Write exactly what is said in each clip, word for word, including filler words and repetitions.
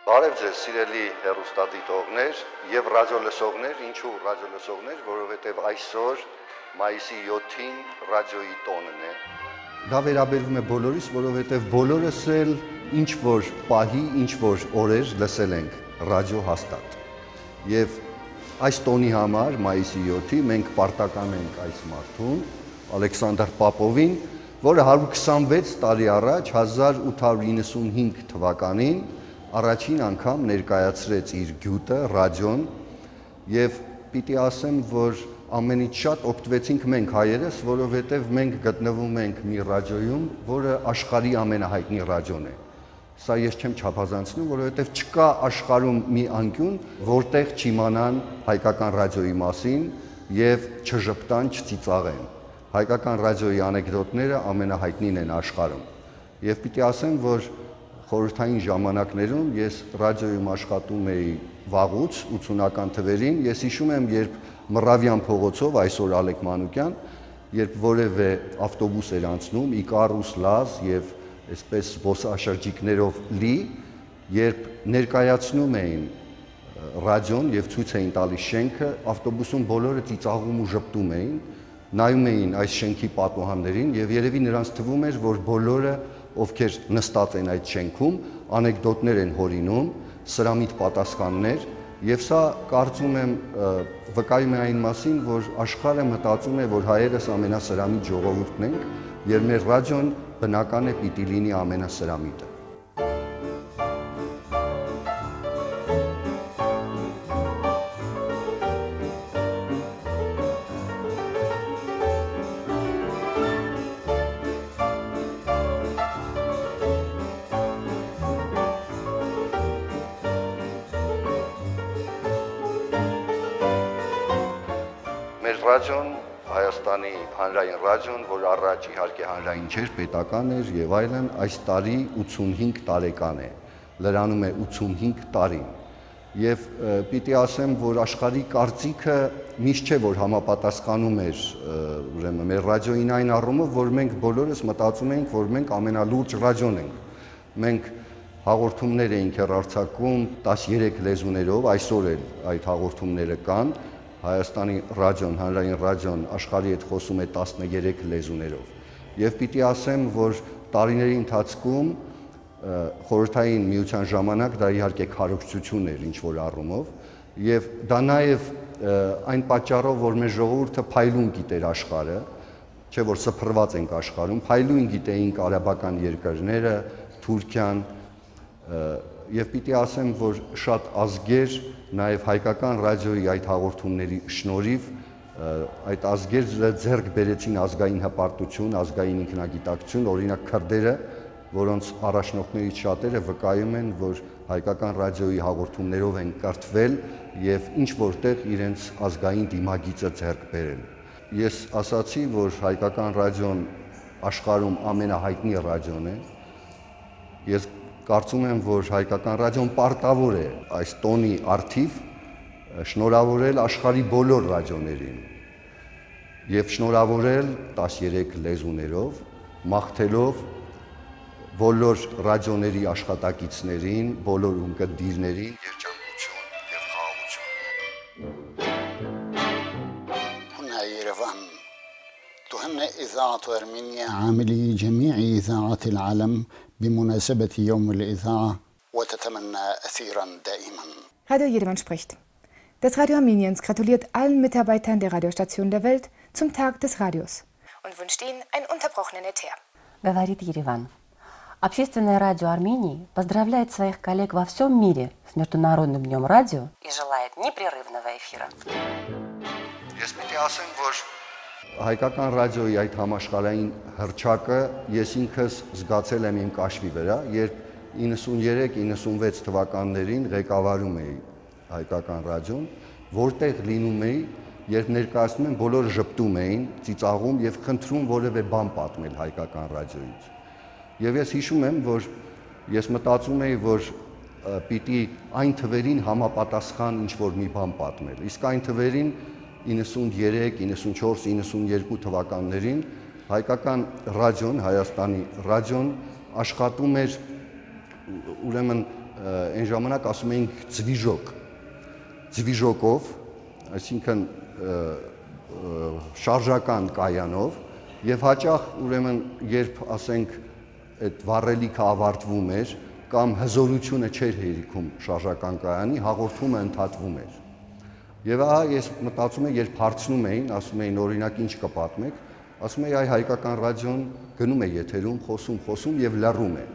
Բարև ձեզ, սիրելի հեռուստադիտողներ եւ ռադիոլսողներ, ինչու ռադիոլսողներ, որովհետեւ այսօր մայիսի յոթին ռադիոյի տոնն է։ Դա վերաբերվում է բոլորիս, որովհետեւ բոլորս էլ ինչ որ պահի, ինչ որ օրեր լսել ենք ռադիո հաստատ։ Եվ այս տոնի համար մայիսի յոթի մենք պարտական ենք այս մարդուն, Ալեքսանդր Պապովին, որը հարյուր քսանվեց տարի առաջ հազար ութ հարյուր իննսունհինգ թվականին առաջին անգամ ներկայացրեց իր գյուտը ռադիոն եւ պիտի ասեմ, որ ամենից շատ օգտվեցինք մենք հայերս, որովհետեւ մենք գտնվում ենք մի ռադիոյում, որը աշխարհի ամենահայտնի ռադիոն է։ Սա ես չեմ չափազանցնում, որովհետեւ չկա աշխարհում մի անկյուն, որտեղ չիմանան հայկական ռադիոյի մասին եւ չժպտան, չծիծաղեն։ Հայկական ռադիոյի անեկդոտները ամենահայտնին են աշխարհում։ Եվ պիտի ասեմ, որ խորհրդային ժամանակներում ես ռադիոյում աշխատում էի վաղուց ութսունական թվերին, ես հիշում եմ, երբ Մռավյան փողոցով, այսօր Ալեք Մանուկյան, երբ որևէ ավտոբուս էր անցնում, Իկարուս, Լազ եւ այսպես զբոսաշրջիկներով լի, երբ ներկայացնում էին ռադիոն եւ ցույց էին տալիս շենքը, ավտոբուսում բոլորը ծիծաղում ու ժպտում էին, նայում էին այս շենքի պատուհաններին եւ երևի նրանց թվում էր, որ բոլորը ովքեր նստած են այդ շենքում, անեկդոտներ են հորինում, սրամիտ պատասխաններ, եւ սա կարծում եմ վկայում է այն մասին, որ աշխարհը մտածում է, որ հայերս ամենասրամիտ ժողովուրդն ենք, եւ մեր ռադիոն բնական է պիտի լինի ամենասրամիտը։ Ռադիոն, Հայաստանի հանրային ռադիոն, որ առաջ իհարկե հանրային չէր, պետական էր եւ այլն, այս տարի ութսունհինգ տարեկան է, լրանում է ութսունհինգ տարին։ Եվ պիտի ասեմ, որ աշխարհի կարծիքը միշտ չէ, որ համապատասխանում էր ուրեմն մեր ռադիոյին այն առումով, որ մենք բոլորս մտածում էինք, որ մենք ամենալուրջ ռադիոն ենք։ Մենք հաղորդումներ էինք հեռարձակում տասներեք լեզուներով, այսօր էլ այդ հաղորդումները կան։ Հայաստանի ռադիոն, հանրային ռադիոն աշխարհի հետ խոսում է տասներեք լեզուներով։ Եվ պիտի ասեմ, որ տարիների ընթացքում խորհրդային միության ժամանակ դա իհարկե քարոզչություն էր ինչ որ առումով, եւ դա նաեւ այն պատճառով, որ մեր ժողովուրդը փայլուն գիտեր աշխարհը, չէ որ սփռված ենք աշխարհում, փայլուն գիտեինք արաբական երկրները, Թուրքիան, եւ պիտի ասեմ, որ շատ ազգեր նաև հայկական ռադիոյի այդ հաղորդումների շնորհիվ այդ ազգերը ձեռք բերեցին ազգային հպարտություն, ազգային ինքնագիտակցություն, օրինակ քրդերը, որոնց առաջնորդներից շատերը վկայում են, որ հայկական ռադիոյի հաղորդումներով են կրթվել եւ ինչ որտեղ իրենց ազգային դիմագիծը ձեռք բերել։ Ես ասացի, որ հայկական ռադիոն աշխարհում ամենահայտնի ռադիոն է։ Ես կարծում եմ, որ հայկական ռադիոն պարտավոր է այս տոնի առթիվ շնորհավորել աշխարհի բոլոր ռադիոներին եւ շնորհավորել տասներեք լեզուներով, մաղթելով բոլոր ռադիոների աշխատակիցներին, բոլոր ունկնդիրներին երջանկություն եւ խաղաղություն։ هنا يرفان تهنئ إذاعة أرمينيا عاملي جميع إذاعات العالم بمناسبة يوم الإذاعة وتتمنى أثيرا دائما. Radio Jerewan spricht. Das Radio Armeniens gratuliert allen Mitarbeitern der Radiostationen der Welt zum Tag des Radios und wünscht ihnen einen unterbrochenen Äther. Говорит Ереван. Общественное радио Армении поздравляет своих коллег во всем мире с Международным днем радио и желает непрерывного эфира. Ես պիտի ասեմ, որ հայկական ռադիոյի այդ համաշխարհային հռչակը ես ինքս զգացել եմ իմ կաշվի վրա, երբ իննսուներեք իննսունվեց թվականներին ղեկավարում էի հայկական ռադիոն, որտեղ լինում էի, երբ ներկայացնում են բոլորը ժպտում էին, ծիծաղում եւ խնդրում որևէ բան պատմել հայկական ռադիոյից։ Եվ ես հիշում եմ, որ ես մտածում էի, որ պիտի այն թվերին համապատասխան ինչ որ մի բան պատմել։ Իսկ այն թվերին իննսուններեք, իննսունչորս, իննսունյերկու թվականներին հայկական ռադիոն, Հայաստանի ռադիոն աշխատում էր ուրեմն այն ժամանակ ասում էինք ձվիժոկ, ձվիժոկով, այսինքն շարժական կայանով, եւ հաճախ ուրեմն երբ ասենք այդ վառելիքը ավարտվում էր կամ հզորությունը չէր հերիքում շարժական կայանի, հաղորդումը ընդհատվում էր։ Եվ ահա ես մտածում եմ, երբ հարցնում էին, ասում էին օրինակ ինչ կպատմեք, ասում էի այ հայկական ռադիոն գնում է եթերում, խոսում, խոսում եւ լռում է։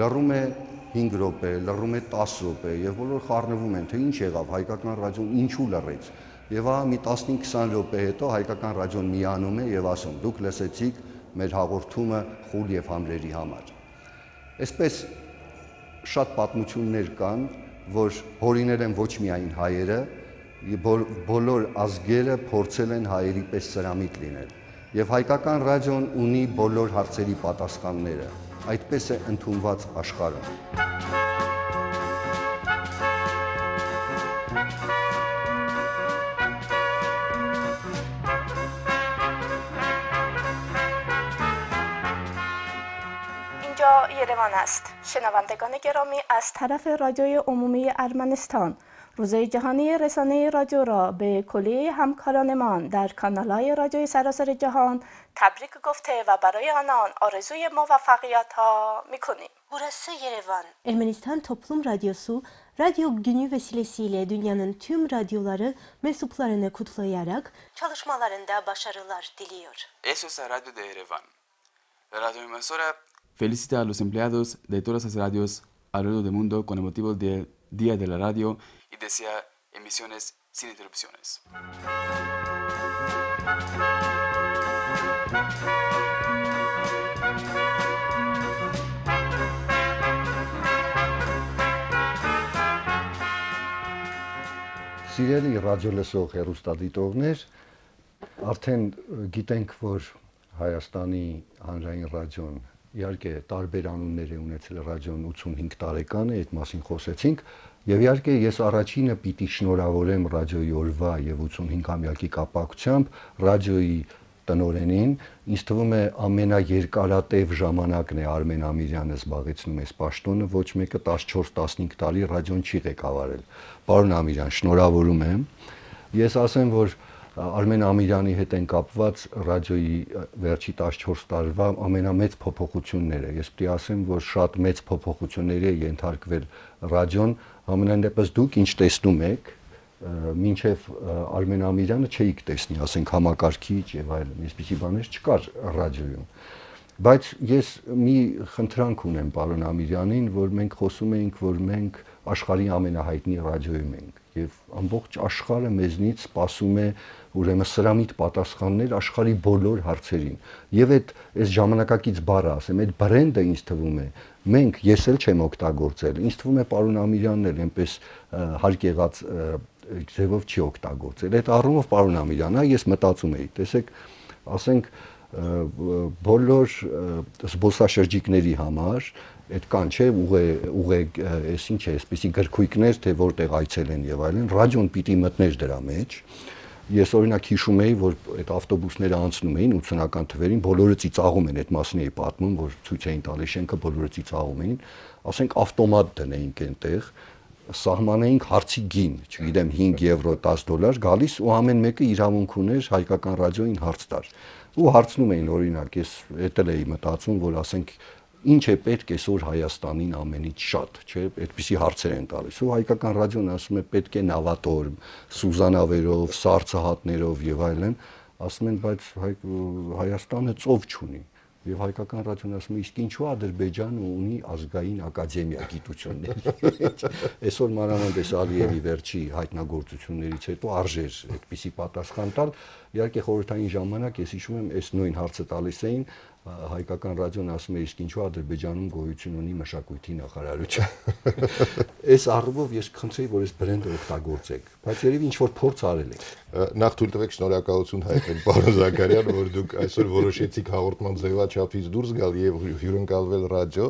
Լռում է հինգ րոպե, լռում է տասը րոպե եւ բոլոր խառնվում են, թե ինչ եղավ հայկական ռադիոն ինչու լռեց։ Եվ ահա մի տասնհինգ քսան րոպե հետո հայկական ռադիոն միանում է եւ ասում դուք լսեցիք մեր հաղորդումը խուլ եւ համրերի համար։ Այսպես շատ պատմություններ կան, որ հորինել են ոչ միայն հայերը, բոլոր ազգերը փորձել են հայերի պես սրամիտ լինել։ Եվ հայկական ռադիոն ունի բոլոր հարցերի պատասխանները, այդպես է ընդունված աշխարհում։ اینجا یروان است. شنوندگان گرامی از طرف رادیوی عمومی ارمنستان روزه جهانی رسانه رادیو را به کلیه همکارانمان در کانال‌های رادیوی سراسر جهان تبریک گفته ve برای آنان آرزوی موفقیت ها می‌کنیم. Burası Yerevan. Ermenistan Toplum Radyosu, Radyo Günü vesilesiyle dünyanın tüm radyoları mensuplarını kutlayarak çalışmalarında başarılar diliyor. Eso es Radio de Yerevan. La radioemisora felicita a los empleados de todas las radios alrededor del mundo con el motivo del Día de la Radio y desea emisiones sin interrupciones. Սիրելի ռադիոլսող հեռուստադիտողներ, արդեն գիտենք, որ Հայաստանի հանրային ռադիոն իհարկե տարբեր անուններ է ունեցել ռադիոն ութսունհինգ տարեկան է, այդ մասին խոսեցինք, եւ իհարկե ես առաջինը պիտի շնորհավորեմ ռադիոյի օրվա եւ ութսունհինգամյակի կապակցությամբ ռադիոյի տնօրենին, ինձ թվում է ամենաերկարատև ժամանակն է Արմեն Ամիրյանը զբաղեցնում այս պաշտոնը, ոչ մեկը տասնչորս տասնհինգ տարի ռադիոն չի ղեկավարել։ Պարոն Ամիրյան, շնորհավորում եմ։ Ես ասեմ, որ Արմեն Ամիրյանի հետ են կապված ռադիոյի վերջի տասնչորս տարվա ամենամեծ փոփոխությունները։ Ես պիտի ասեմ, որ շատ մեծ փոփոխությունների է ենթարկվել ռադիոն, ամենայն դեպս դուք ինչ տեսնում եք, մինչև Արմեն Ամիրյանը չէիք տեսնի, ասենք համակարգիչ եւ այլն, այսպիսի բաներ չկար ռադիոյում։ Բայց ես մի խնդրանք ունեմ պարոն Ամիրյանին, որ մենք խոսում էինք, որ մենք աշխարհի ամենահայտնի ռադիոյում ենք եւ ամբողջ աշխարհը մեզնից սպասում է ուրեմն սրամիտ պատասխաններ աշխարհի բոլոր հարցերին։ Եվ այդ այս ժամանակակից բառը ասեմ, այդ բրենդը ինձ թվում է, մենք ես էլ չեմ օգտագործել։ Ինձ թվում է պարոն Ամիրյանն էլ այնպես հարկ եղած ձևով չի օգտագործել։ Այդ առումով պարոն Ամիրյան, ես մտածում էի, տեսեք, ասենք բոլոր զբոսաշրջիկների համար այդ կան չէ ուղե ուղե այս ինչ է, այսպեսի գրքույկներ, թե որտեղ այցելեն եւ այլն, ռադիոն պիտի մտներ դրա մեջ։ Ես օրինակ հիշում էի, որ այդ ավտոբուսները անցնում էին ութսունական թվերին, բոլորը ծիծաղում են, այդ մասն էի պատմում, որ ցույց էին տալիս շենքը, բոլորը ծիծաղում էին, ասենք ավտոմատ դնեինք այնտեղ, սահմանեինք հարցի գին, չգիտեմ հինգ եվրո, դաս դոլար գալիս ու ամեն մեկը իրավունք ուներ հայկական ռադիոյին հարց տար։ Ու հարցնում էին օրինակ, ես էդ էլ էի մտածում, որ ասենք ինչ է պետք այսօր Հայաստանին ամենից շատ, չէ՞, այդպիսի հարցեր են տալիս։ Ու հայկական ռադիոն ասում է պետք է նավատոր, սուզանավերով, սառցահատներով եւ այլն, ասում են, բայց Հայաստանը ծով չունի։ Եվ հայկական ռադիոն ասում է, իսկ ինչու Ադրբեջանը ունի ազգային ակադեմիա գիտությունների։ Այսօր մանավանդ Ալիևի վերջի հայտնագործություններից հետո արժեր այդպիսի պատասխան տալ։ Իհարկե խորհրդային ժամանակ ես հիշում եմ, այս նույն հարցը տալիս էին, հայկական ռադիոն ասում է, իսկ ինչու Ադրբեջանում գոյություն ունի մշակույթի նախարարություն։ Այս առումով ես կխնդրեի, որ այս բրենդը օգտագործեք, բայց երևի ինչ որ փորձ արել եք։ Նախ թույլ տվեք շնորհակալություն հայտնել պարոն Զաքարյան, որ դուք այսօր որոշեցիք հաղորդման ձևաչափից դուրս գալ եւ հյուրընկալվել ռադիո։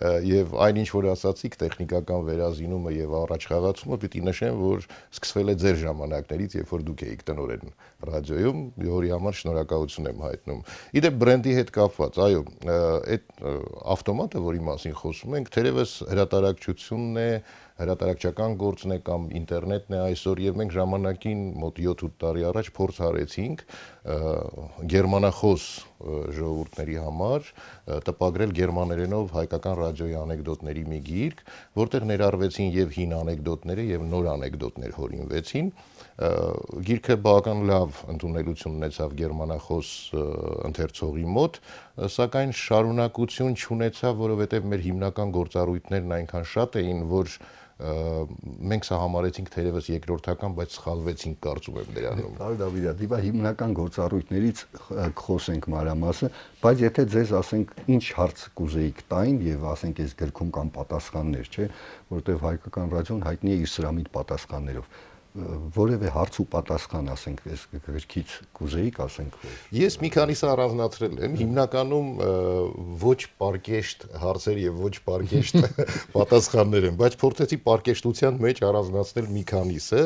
Եվ այնինչ որ ասացիք տեխնիկական վերազինումը եւ առաջխաղացումը պիտի նշեմ, որ սկսվել է ձեր ժամանակներից, երբ որ դուք էիք տնօրեն ռադիոյում, որի համար շնորհակալություն եմ հայտնում։ Իդեպ բրենդի հետ կապված, այո, այդ ավտոմատը, որի մասին խոսում ենք, թերևս հրատարակչությունն է, հրատարակչական գործն է կամ ինտերնետն է այսօր, եւ մենք ժամանակին մոտ յոթ-ութ տարի առաջ փորձ արեցինք գերմանախոս ժողովուրդների համար տպագրել գերմաներենով հայկական ռադիոյի անեկդոտների մի գիրք, որտեղ ներառվեցին եւ հին անեկդոտները եւ նոր անեկդոտներ հորինվեցին։ Գիրքը բավական լավ ընդունելություն ունեցավ գերմանախոս ընթերցողի մոտ, սակայն շարունակություն չունեցավ, որովհետեւ մեր հիմնական գործառույթներն այնքան շատ էին, որ մենք սա համարեցինք թերևս երկրորդական, բայց սխալվեցինք, կարծում եմ դրանում։ Բարի Դավիթ, դիվա հիմնական գործառույթներից խոսենք մանրամասը, բայց եթե ձեզ ասենք ինչ հարց կուզեիք տային եւ ասենք այս գրքում կան պատասխաններ, չէ, որտեղ հայկական ռադիոն հայտնի է իր սրամիտ պատասխաններով, որևէ հարց ու պատասխան ասենք այս գրքից կուզեիք ասենք։ Ես մի քանիսը առանձնացրել եմ, հիմնականում ոչ պարկեշտ հարցեր եւ ոչ պարկեշտ պատասխաններ են, բայց փորձեցի պարկեշտության մեջ առանձնացնել մի քանիսը,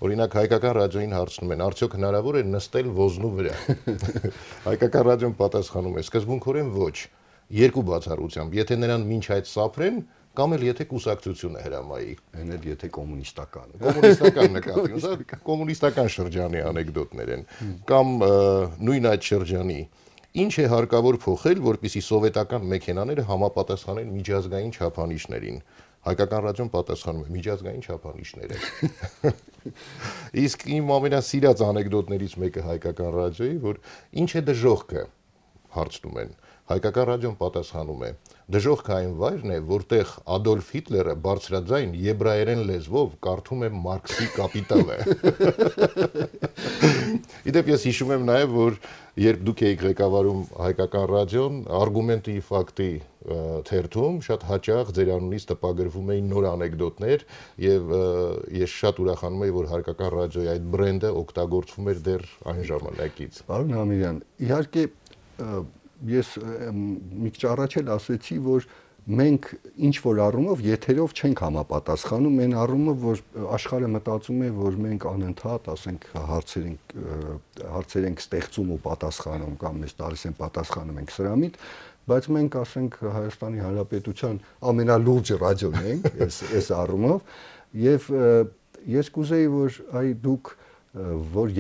օրինակ հայկական ռադիոյին հարցնում են, արդյոք հնարավոր է նստել ոզնու վրա։ Հայկական ռադիոն պատասխանում է, սկզբունքորեն ոչ, երկու բացառությամբ, եթե նրան մինչ այդ սափրեն, կամ էլ եթե կուսակցությունը հրամայի, այն էլ եթե կոմունիստական կոմունիստական նկատի, սա կոմունիստական շրջանի անեկդոտներ են, կամ նույն այդ շրջանի, ինչ է հարկավոր փոխել, որպեսզի սովետական մեքենաները համապատասխանեն միջազգային չափանիշներին։ Հայկական ռադիոն պատասխանում է միջազգային չափանիշներ են։ Իսկ իմ ամենասիրած անեկդոտներից մեկը հայկական ռադիոյի, որ ինչ է դժոխքը, հարցնում են։ Հայկական ռադիոն պատասխանում է. դժոխքը այն վայրն է, որտեղ Ադոլֆ Հիտլերը բարձրաձայն եբրայերեն լեզվով կարդում է Մարքսի կապիտալը։ Իդեպ ես հիշում եմ նաև, որ երբ դուք էիք ղեկավարում հայկական ռադիոն, արգումենտի ֆակտի թերթում շատ հաճախ ձեր անունից տպագրվում էին նոր անեկդոտներ, եւ ես շատ ուրախանում եի, որ հայկական ռադիոյի այդ բրենդը օգտագործվում էր դեռ այն ժամանակից։ Պարոն Համիրյան, իհարկե ես մի քիչ առաջ էլ ասացի, որ մենք ինչ որ առումով եթերով չենք համապատասխանում, այն առումով, որ աշխարհը մտածում է, որ մենք անընդհատ, ասենք, հարցեր ենք հարցեր ենք ստեղծում ու պատասխանում կամ մեզ տալիս են պատասխանում ենք սրամիտ, բայց մենք, ասենք, Հայաստանի Հանրապետության ամենալուրջ ռադիոն ենք այս այս առումով, եւ ես կուզեի, որ այ դուք որ